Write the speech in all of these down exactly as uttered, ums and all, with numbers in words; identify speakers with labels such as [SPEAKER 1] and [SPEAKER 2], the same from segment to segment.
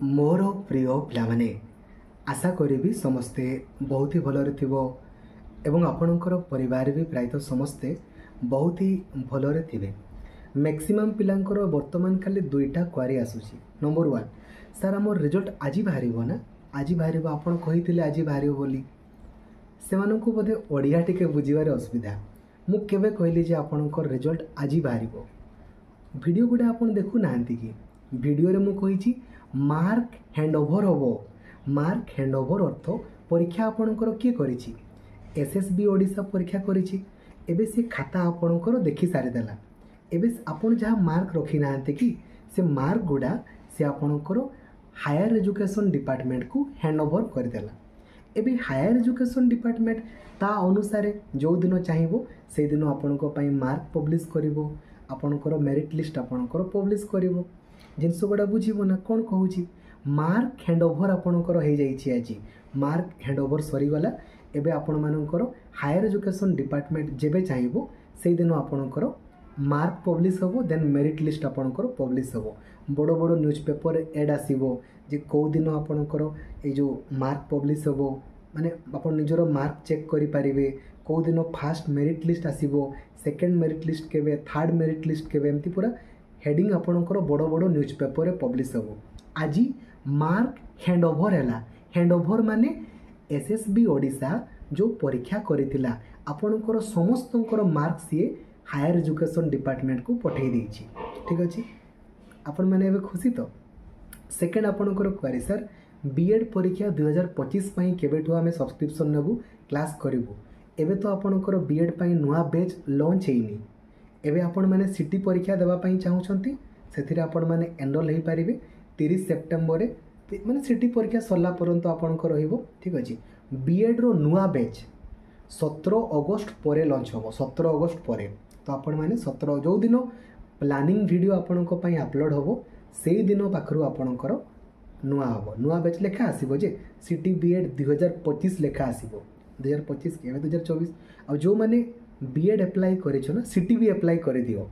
[SPEAKER 1] ମୋର ପ୍ରିୟ ପିଲାମାନେ, ଆଶା କରିବି ସମସ୍ତେ ବହୁତ ହି ଭଲରେ ଥିବ ଏବଂ ଆପଣଙ୍କର ପରିବାର ବି ପ୍ରାୟତଃ ସମସ୍ତେ ବହୁତ ହି ଭଲରେ ଥିବେ। ମ୍ୟାକ୍ସିମମ୍ ପିଲାଙ୍କର ବର୍ତ୍ତମାନ ଖାଲି ଦୁଇଟା କ୍ୱାରି ଆସୁଛି। ନମ୍ବର ୱାନ୍, ସାର୍, ଆମର ରେଜଲ୍ଟ ଆଜି ବାହାରିବ ନା? ଆଜି ବାହାରିବ, ଆପଣ କହିଥିଲେ ଆଜି ବାହାରିବ ବୋଲି। ସେମାନଙ୍କୁ ବୋଧେ ଓଡ଼ିଆ ଟିକେ ବୁଝିବାରେ ଅସୁବିଧା। ମୁଁ କେବେ କହିଲି ଯେ ଆପଣଙ୍କର ରେଜଲ୍ଟ ଆଜି ବାହାରିବ? ଭିଡ଼ିଓ ଗୁଡ଼ା ଆପଣ ଦେଖୁନାହାନ୍ତି କି? ଭିଡ଼ିଓରେ ମୁଁ କହିଛି ମାର୍କ ହ୍ୟାଣ୍ଡ ଓଭର ହେବ। ମାର୍କ ହ୍ୟାଣ୍ଡ ଓଭର ଅର୍ଥ ପରୀକ୍ଷା ଆପଣଙ୍କର କିଏ କରିଛି? ଏସ୍ ଏସ୍ ବି ଓଡ଼ିଶା ପରୀକ୍ଷା କରିଛି। ଏବେ ସେ ଖାତା ଆପଣଙ୍କର ଦେଖି ସାରିଦେଲା। ଏବେ ଆପଣ ଯାହା ମାର୍କ ରଖିନାହାନ୍ତି କି, ସେ ମାର୍କ ଗୁଡ଼ା ସେ ଆପଣଙ୍କର ହାୟର ଏଜୁକେସନ୍ ଡିପାର୍ଟମେଣ୍ଟକୁ ହ୍ୟାଣ୍ଡ ଓଭର କରିଦେଲା। ଏବେ ହାୟର ଏଜୁକେସନ୍ ଡିପାର୍ଟମେଣ୍ଟ ତା ଅନୁସାରେ ଯେଉଁଦିନ ଚାହିଁବ, ସେଇଦିନ ଆପଣଙ୍କ ପାଇଁ ମାର୍କ ପବ୍ଲିଶ କରିବ, ଆପଣଙ୍କର ମେରିଟ୍ ଲିଷ୍ଟ ଆପଣଙ୍କର ପବ୍ଲିଶ କରିବ। ଜିନିଷ ଗୁଡ଼ା ବୁଝିବ ନା କ'ଣ କହୁଛି? ମାର୍କ ହ୍ୟାଣ୍ଡ ଓଭର ଆପଣଙ୍କର ହେଇଯାଇଛି ଆଜି। ମାର୍କ ହ୍ୟାଣ୍ଡ ଓଭର ସରିଗଲା। ଏବେ ଆପଣମାନଙ୍କର ହାୟର ଏଜୁକେସନ୍ ଡିପାର୍ଟମେଣ୍ଟ ଯେବେ ଚାହିଁବ, ସେଇଦିନ ଆପଣଙ୍କର ମାର୍କ ପବ୍ଲିଶ ହେବ, ଦେନ୍ ମେରିଟ୍ ଲିଷ୍ଟ ଆପଣଙ୍କର ପବ୍ଲିଶ ହେବ। ବଡ଼ ବଡ଼ ନ୍ୟୁଜ୍ ପେପରରେ ଏଡ଼୍ ଆସିବ ଯେ କେଉଁ ଦିନ ଆପଣଙ୍କର ଏଇ ଯେଉଁ ମାର୍କ ପବ୍ଲିଶ ହେବ, ମାନେ ଆପଣ ନିଜର ମାର୍କ ଚେକ୍ କରିପାରିବେ। କେଉଁ ଦିନ ଫାଷ୍ଟ ମେରିଟ୍ ଲିଷ୍ଟ ଆସିବ, ସେକେଣ୍ଡ ମେରିଟ୍ ଲିଷ୍ଟ କେବେ, ଥାର୍ଡ଼ ମେରିଟ୍ ଲିଷ୍ଟ କେବେ, ଏମିତି ପୁରା ହେଡ଼ିଂ ଆପଣଙ୍କର ବଡ଼ ବଡ଼ ନ୍ୟୁଜ୍ ପେପରରେ ପବ୍ଲିଶ ହେବ। ଆଜି ମାର୍କ ହ୍ୟାଣ୍ଡ ଓଭର ହେଲା। ହ୍ୟାଣ୍ଡ ଓଭର ମାନେ ଏସ୍ ଏସ୍ ବି ଓଡ଼ିଶା ଯେଉଁ ପରୀକ୍ଷା କରିଥିଲା, ଆପଣଙ୍କର ସମସ୍ତଙ୍କର ମାର୍କ ସିଏ ହାୟର ଏଜୁକେସନ୍ ଡିପାର୍ଟମେଣ୍ଟକୁ ପଠାଇ ଦେଇଛି। ଠିକ୍ ଅଛି, ଆପଣମାନେ ଏବେ ଖୁସି ତ? ସେକେଣ୍ଡ ଆପଣଙ୍କର କ୍ୱାରି, ସାର୍, ବି ଏଡ଼୍ ପରୀକ୍ଷା ଦୁଇହଜାର ପଚିଶ ପାଇଁ କେବେଠୁ ଆମେ ସବସ୍କ୍ରିପସନ୍ ନେବୁ, କ୍ଲାସ୍ କରିବୁ? ଏବେ ତ ଆପଣଙ୍କର ବି ଏଡ଼୍ ପାଇଁ ନୂଆ ବ୍ୟାଚ୍ ଲଞ୍ଚ ହେଇନି। ଏବେ ଆପଣମାନେ ସି ଟି ପରୀକ୍ଷା ଦେବା ପାଇଁ ଚାହୁଁଛନ୍ତି, ସେଥିରେ ଆପଣମାନେ ଏନରୋଲ୍ ହେଇପାରିବେ ତିରିଶ ସେପ୍ଟେମ୍ବରରେ, ମାନେ ସି ଟି ପରୀକ୍ଷା ସରିଲା ପର୍ଯ୍ୟନ୍ତ ଆପଣଙ୍କ ରହିବ। ଠିକ୍ ଅଛି, ବି ଏଡ଼୍ର ନୂଆ ବ୍ୟାଚ୍ ସତର ଅଗଷ୍ଟ ପରେ ଲଞ୍ଚ ହେବ, ସତର ଅଗଷ୍ଟ ପରେ। ତ ଆପଣମାନେ ସତର ଯେଉଁଦିନ ପ୍ଲାନିଂ ଭିଡ଼ିଓ ଆପଣଙ୍କ ପାଇଁ ଅପଲୋଡ଼ ହେବ, ସେଇଦିନ ପାଖରୁ ଆପଣଙ୍କର ନୂଆ ହେବ। ନୂଆ ବ୍ୟାଚ୍ ଲେଖା ଆସିବ ଯେ ସି ଟି ବି ଏଡ଼୍ ଦୁଇହଜାର ପଚିଶ ଲେଖା ଆସିବ। ଦୁଇହଜାର ପଚିଶ କି ଏବେ ଦୁଇହଜାର ଚବିଶ। ଆଉ ଯେଉଁମାନେ ବି ଏଡ଼୍ ଆପ୍ଲାଏ କରିଛ ନା, ସି ଟି ବି ଆପ୍ଲାଏ କରିଦିଅ।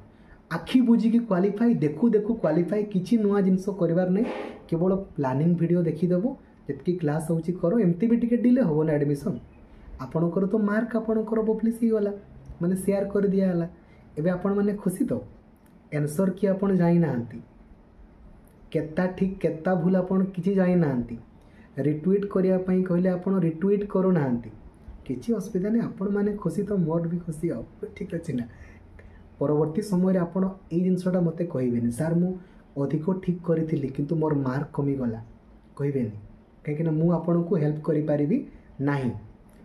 [SPEAKER 1] ଆଖି ବୁଜିକି କ୍ୱାଲିଫାଇ, ଦେଖୁ ଦେଖୁ କ୍ୱାଲିଫାଇ। କିଛି ନୂଆ ଜିନିଷ କରିବାର ନାହିଁ, କେବଳ ପ୍ଲାନିଂ ଭିଡ଼ିଓ ଦେଖିଦେବ। ଯେତିକି କ୍ଲାସ୍ ହେଉଛି କର। ଏମିତି ବି ଟିକେ ଡିଲେ ହେବ ନା ଆଡ଼ମିସନ୍। ଆପଣଙ୍କର ତ ମାର୍କ ଆପଣଙ୍କର ପବ୍ଲିଶ ହେଇଗଲା, ମାନେ ସେୟାର କରିଦିଆହେଲା। ଏବେ ଆପଣମାନେ ଖୁସି ତ? ଆନ୍ସର୍ କି ଆପଣ ଜାଣିନାହାନ୍ତି, କେତା ଠିକ୍ କେତା ଭୁଲ ଆପଣ କିଛି ଜାଣିନାହାନ୍ତି। ରିଟ୍ୱିଟ୍ କରିବା ପାଇଁ କହିଲେ ଆପଣ ରିଟ୍ୱିଟ୍ କରୁନାହାନ୍ତି। କିଛି ଅସୁବିଧା ନାହିଁ, ଆପଣମାନେ ଖୁସି ତ ମୋର ବି ଖୁସି ଆଉ। ଠିକ୍ ଅଛି ନା? ପରବର୍ତ୍ତୀ ସମୟରେ ଆପଣ ଏଇ ଜିନିଷଟା ମୋତେ କହିବେନି, ସାର୍, ମୁଁ ଅଧିକ ଠିକ୍ କରିଥିଲି କିନ୍ତୁ ମୋର ମାର୍କ କମିଗଲା, କହିବେନି। କାହିଁକିନା ମୁଁ ଆପଣଙ୍କୁ ହେଲ୍ପ କରିପାରିବି ନାହିଁ।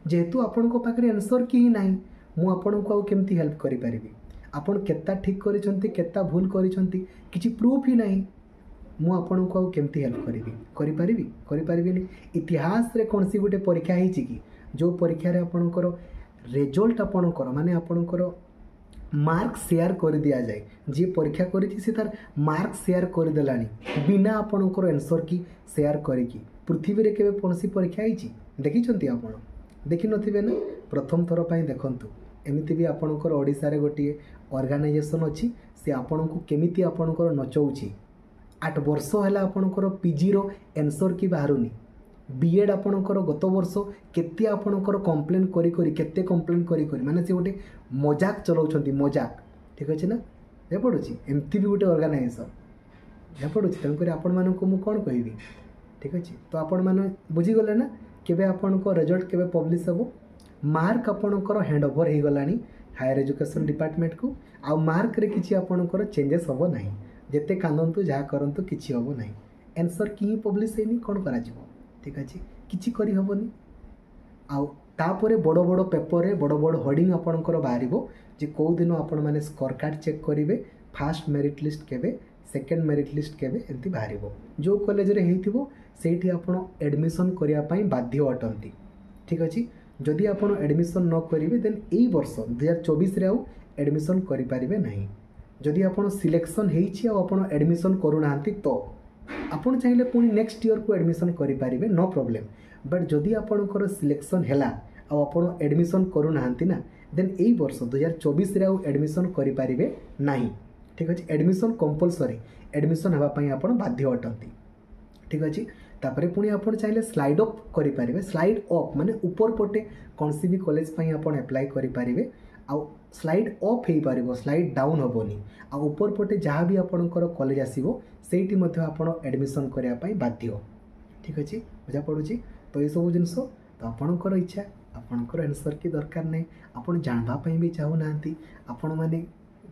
[SPEAKER 1] ଯେହେତୁ ଆପଣଙ୍କ ପାଖରେ ଆନ୍ସର୍ କି ହିଁ ନାହିଁ, ମୁଁ ଆପଣଙ୍କୁ ଆଉ କେମିତି ହେଲ୍ପ କରିପାରିବି? ଆପଣ କେତା ଠିକ୍ କରିଛନ୍ତି, କେତା ଭୁଲ କରିଛନ୍ତି, କିଛି ପ୍ରୁଫ୍ ହିଁ ନାହିଁ। ମୁଁ ଆପଣଙ୍କୁ ଆଉ କେମିତି ହେଲ୍ପ କରିବି? କରିପାରିବି? କରିପାରିବିନି। ଇତିହାସରେ କୌଣସି ଗୋଟେ ପରୀକ୍ଷା ହେଇଛି କି, ଯେଉଁ ପରୀକ୍ଷାରେ ଆପଣଙ୍କର ରେଜଲ୍ଟ ଆପଣଙ୍କର ମାନେ ଆପଣଙ୍କର ମାର୍କ ସେୟାର କରିଦିଆଯାଏ? ଯିଏ ପରୀକ୍ଷା କରିଛି, ସେ ତାର ମାର୍କ ସେୟାର କରିଦେଲାଣି ବିନା ଆପଣଙ୍କର ଆନ୍ସର୍ କି ସେୟାର କରିକି। ପୃଥିବୀରେ କେବେ କୌଣସି ପରୀକ୍ଷା ହେଇଛି, ଦେଖିଛନ୍ତି ଆପଣ? ଦେଖିନଥିବେ ନା? ପ୍ରଥମ ଥର ପାଇଁ ଦେଖନ୍ତୁ। ଏମିତି ବି ଆପଣଙ୍କର ଓଡ଼ିଶାରେ ଗୋଟିଏ ଅର୍ଗାନାଇଜେସନ୍ ଅଛି, ସେ ଆପଣଙ୍କୁ କେମିତି ଆପଣଙ୍କର ନଚଉଛି। ଆଠ ବର୍ଷ ହେଲା ଆପଣଙ୍କର ପିଜିର ଆନ୍ସର୍ କି ବାହାରୁନି। ବି ଏଡ଼୍ ଆପଣଙ୍କର ଗତ ବର୍ଷ କେତେ ଆପଣଙ୍କର କମ୍ପ୍ଲେନ୍ କରି କରି, କେତେ କମ୍ପ୍ଲେନ୍ କରି କରି, ମାନେ ସେ ଗୋଟେ ମଜାକ ଚଲାଉଛନ୍ତି, ମଜାକ। ଠିକ୍ ଅଛି ନା? ଏ ପଡ଼ୁଛି, ଏମିତି ବି ଗୋଟେ ଅର୍ଗାନାଇଜେସନ୍ ଏହା ପଡ଼ୁଛି। ତେଣୁକରି ଆପଣମାନଙ୍କୁ ମୁଁ କ'ଣ କହିବି? ଠିକ୍ ଅଛି, ତ ଆପଣମାନେ ବୁଝିଗଲେ ନା କେବେ ଆପଣଙ୍କ ରେଜଲ୍ଟ କେବେ ପବ୍ଲିଶ ହେବ? ମାର୍କ ଆପଣଙ୍କର ହ୍ୟାଣ୍ଡ ଓଭର ହେଇଗଲାଣି ହାୟର ଏଜୁକେସନ୍ ଡିପାର୍ଟମେଣ୍ଟକୁ। ଆଉ ମାର୍କରେ କିଛି ଆପଣଙ୍କର ଚେଞ୍ଜେସ୍ ହେବ ନାହିଁ। ଯେତେ କାନ୍ଦନ୍ତୁ, ଯାହା କରନ୍ତୁ, କିଛି ହେବ ନାହିଁ। ଆନ୍ସର୍ କି ହିଁ ପବ୍ଲିଶ ହେଇନି, କ'ଣ କରାଯିବ? ଠିକ୍ ଅଛି, କିଛି କରିହେବନି। ଆଉ ତାପରେ ବଡ଼ ବଡ଼ ପେପରରେ ବଡ଼ ବଡ଼ ହୋର୍ଡ଼ିଂ ଆପଣଙ୍କର ବାହାରିବ ଯେ କେଉଁ ଦିନ ଆପଣମାନେ ସ୍କୋର କାର୍ଡ଼ ଚେକ୍ କରିବେ, ଫାଷ୍ଟ ମେରିଟ୍ ଲିଷ୍ଟ କେବେ, ସେକେଣ୍ଡ ମେରିଟ୍ ଲିଷ୍ଟ କେବେ, ଏମିତି ବାହାରିବ। ଯେଉଁ କଲେଜରେ ହେଇଥିବ, ସେଇଠି ଆପଣ ଆଡ଼ମିସନ୍ କରିବା ପାଇଁ ବାଧ୍ୟ ଅଟନ୍ତି। ଠିକ୍ ଅଛି, ଯଦି ଆପଣ ଆଡ଼ମିସନ୍ ନ କରିବେ, ଦେନ୍ ଏଇ ବର୍ଷ ଦୁଇହଜାର ଚବିଶରେ ଆଉ ଆଡ଼ମିସନ୍ କରିପାରିବେ ନାହିଁ। ଯଦି ଆପଣ ସିଲେକ୍ସନ୍ ହେଇଛି ଆଉ ଆପଣ ଆଡ଼ମିସନ୍ କରୁନାହାନ୍ତି, ତ ଆପଣ ଚାହିଁଲେ ପୁଣି ନେକ୍ସଟ ଇୟର୍କୁ ଆଡ଼ମିସନ୍ କରିପାରିବେ, ନୋ ପ୍ରୋବ୍ଲେମ୍। ବଟ୍ ଯଦି ଆପଣଙ୍କର ସିଲେକ୍ସନ୍ ହେଲା ଆଉ ଆପଣ ଆଡ଼ମିସନ୍ କରୁନାହାନ୍ତି ନା, ଦେନ୍ ଏଇ ବର୍ଷ ଦୁଇହଜାର ଚବିଶରେ ଆଉ ଆଡ଼ମିସନ୍ କରିପାରିବେ ନାହିଁ। ଠିକ୍ ଅଛି, ଆଡ଼ମିସନ୍ କମ୍ପଲସରି, ଆଡ଼ମିସନ୍ ହେବା ପାଇଁ ଆପଣ ବାଧ୍ୟ ଅଟନ୍ତି। ଠିକ୍ ଅଛି ତାପରେ ପୁଣି ଆପଣ ଚାହିଁଲେ ସ୍ଲାଇଡ୍ ଅପ୍ କରିପାରିବେ ସ୍ଲାଇଡ୍ ଅପ୍ ମାନେ ଉପର ପଟେ କୌଣସି ବି କଲେଜ ପାଇଁ ଆପଣ ଆପ୍ଲାଏ କରିପାରିବେ ଆଉ ସ୍ଲାଇଡ୍ ଅପ୍ ହେଇପାରିବ ସ୍ଲାଇଡ୍ ଡାଉନ୍ ହେବନି ଆଉ ଉପର ପଟେ ଯାହା ବି ଆପଣଙ୍କର କଲେଜ ଆସିବ ସେଇଠି ମଧ୍ୟ ଆପଣ ଆଡ଼ମିସନ୍ କରିବା ପାଇଁ ବାଧ୍ୟ ଠିକ୍ ଅଛି ବୁଝା ପଡ଼ୁଛି ତ ଏସବୁ ଜିନିଷ ତ ଆପଣଙ୍କର ଇଚ୍ଛା ଆପଣଙ୍କର ଆନ୍ସର୍ କି ଦରକାର ନାହିଁ ଆପଣ ଜାଣିବା ପାଇଁ ବି ଚାହୁଁନାହାନ୍ତି ଆପଣମାନେ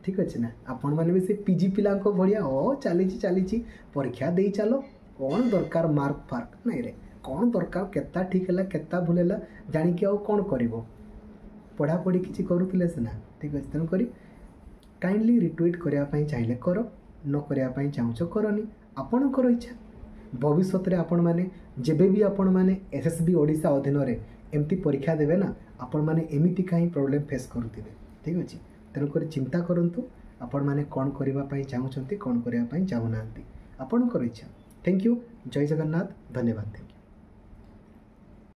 [SPEAKER 1] ଠିକ୍ ଅଛି ନା ଆପଣମାନେ ବି ସେ ପି ଜି ପିଲାଙ୍କ ଭଳିଆ ଅ ଚାଲିଛି ଚାଲିଛି ପରୀକ୍ଷା ଦେଇ ଚାଲ କ'ଣ ଦରକାର ମାର୍କ ଫାର୍କ ନାଇଁ ରେ କ'ଣ ଦରକାର କେତା ଠିକ୍ ହେଲା କେତା ଭୁଲ ହେଲା ଜାଣିକି ଆଉ କ'ଣ କରିବ ପଢ଼ାପଢ଼ି କିଛି କରୁଥିଲେ ସିନା ଠିକ୍ ଅଛି ତେଣୁକରି କାଇଣ୍ଡଲି ରିଟ୍ୱିଟ୍ କରିବା ପାଇଁ ଚାହିଁଲେ କର ନ କରିବା ପାଇଁ ଚାହୁଁଛ କରନି ଆପଣଙ୍କର ଇଚ୍ଛା ଭବିଷ୍ୟତରେ ଆପଣମାନେ ଯେବେ ବି ଆପଣମାନେ ଏସ୍ ଏସ୍ ବି ଓଡ଼ିଶା ଅଧୀନରେ ଏମିତି ପରୀକ୍ଷା ଦେବେ ନା ଆପଣମାନେ ଏମିତିକା ହିଁ ପ୍ରୋବ୍ଲେମ୍ ଫେସ୍ କରୁଥିବେ ଠିକ୍ ଅଛି ତେଣୁକରି ଚିନ୍ତା କରନ୍ତୁ ଆପଣମାନେ କ'ଣ କରିବା ପାଇଁ ଚାହୁଁଛନ୍ତି କ'ଣ କରିବା ପାଇଁ ଚାହୁଁନାହାନ୍ତି ଆପଣଙ୍କର ଇଚ୍ଛା thank you Jay Jagannath ଧନ୍ୟବାଦ thank you